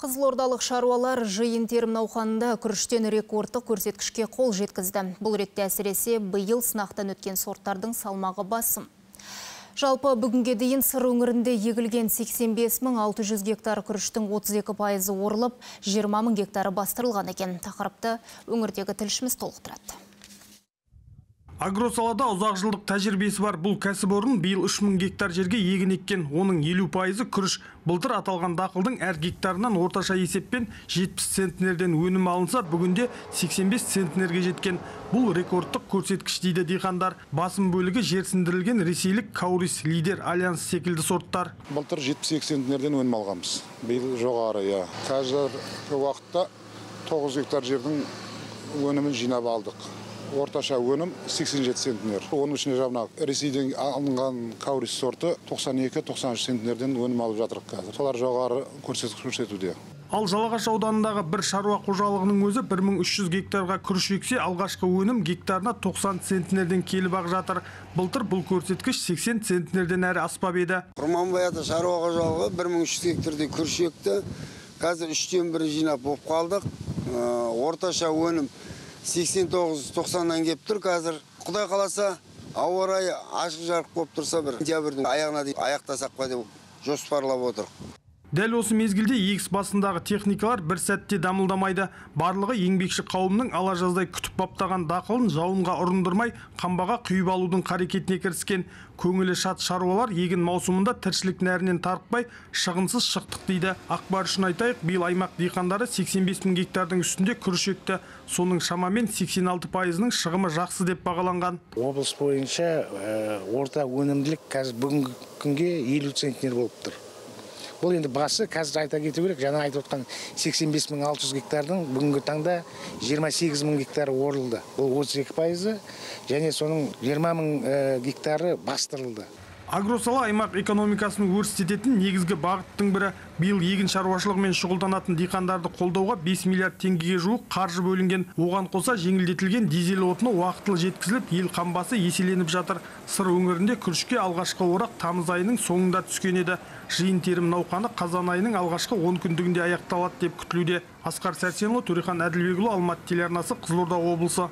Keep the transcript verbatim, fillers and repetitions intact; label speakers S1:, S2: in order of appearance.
S1: Қызылордалық шаруалар жиын терім науқанында күріштен рекордтық көрсеткішке қол жеткізді. Бұл ретте әсіресе биыл сынақтан өткен сорттардың салмағы басым. Жалпы бүгінге дейін сыр өңірінде егілген сексен бес мың алты жүз гектар күріштің отыз екі пайызы орылып, жиырма мың гектары бастырылған екен. Тақырыпты өңірдегі тілшіміз толықтырады.
S2: Агросалада ұзақ жылдық тәжірибесі бар бұл кәсіпорын биыл үш мың гектар жерге егін еккен. Оның елу пайызы күріш. Былтыр аталған дақылдың әр гектарынан орташа есеппен жетпіс центнерден өнім алынса, бүгінде сексен бес центнерге жеткен. Бұл рекордтық көрсеткіш дейді диқандар. Басым бөлігі жерсіндірілген ресейлік Каурис, Лидер, Альянс секілді сорттар.
S3: Былтыр жетпіс екі центнерден өнім алғанбыз. Биыл жоғары, я. Қазір уақытта тоғыз гектар жердің өнімін жинап алдық. Орташа өнім сексен жеті центнер. Оның ішіне жабына Ресейден алынған Каурис сорты тоқсан екі тоқсан үш центнерден өнім алып жатырық қазір. Солар жоғары көрсеткіш көрсетуде.
S2: Ал Жалағаш ауданындағы бір шаруа қожалығының өзі бір мың үш жүз гектарға күріш ексе, алғашқы өнім гектарына тоқсан центнерден келіп ақ жатыр. Былтыр бұл көрсеткіш сексен центнерден әрі аспап еді.
S4: Құрманбай ата шаруа қожалығы бір мың үш жүз гектарда күріш екті. Қазір үштен бірі жинап болып қалдық. Орташа өнім сексен тоғыз тоқсаннан кеп тұр. Қазір Құдай қаласа ауа райы ашық жарық болып тұрса, бір сентябрьдің аяғына дейін аяқтасақ па деп жоспарлап отыр.
S2: Дәл осы мезгілде егіс басындағы техникалар бір сәтте дамылдамайды. Барлығы еңбекші қауымның ала жаздай күтіп баптаған дақылын жауынға ұрындырмай, қамбаға құйып алудың қарекетіне кіріскен. Көңілі шат шаруалар егін маусымында тіршілік нәрінен тарықпай, шығынсыз шықтық дейді. Ақпар үшін айтайық, биыл аймақ диқандары сексен бес мың гектардың үстінде күріш екті. Соның шамамен сексен алты пайызының шығымы жақсы деп бағаланған.
S5: Облыс бойынша орта өнімділік қазір бүгінгі күнге елу центнер болып тұр. Бұл енді басы қазір айта кету керек, жаңа айтып отқан сексен бес мың алты жүз гектардың бүгінгі таңда жиырма сегіз мың гектары орылды. Бұл отыз екі пайызы, және соның жиырма мың гектары бастырылды.
S2: Агросала аймақ экономикасын өрістететін негізгі бағыттың бірі. Биыл егін шаруашылығымен шұғылданатын диқандарды қолдауға бес миллиард теңгеге жуық қаржы бөлінген. Оған қоса жеңілдетілген дизель отыны уақытылы жеткізіліп, ел қамбасы еселеніп жатыр. Сыр өңірінде күрішке алғашқы орақ тамыз айының соңында түскен еді. Жиын терім науқаны қазан айының алғашқы он күндігінде аяқталады деп күтілуде. Асқар Сәрсенұлы, Төрехан Әділбекұлы, Алматы телеарнасы, Қызылорда облысы.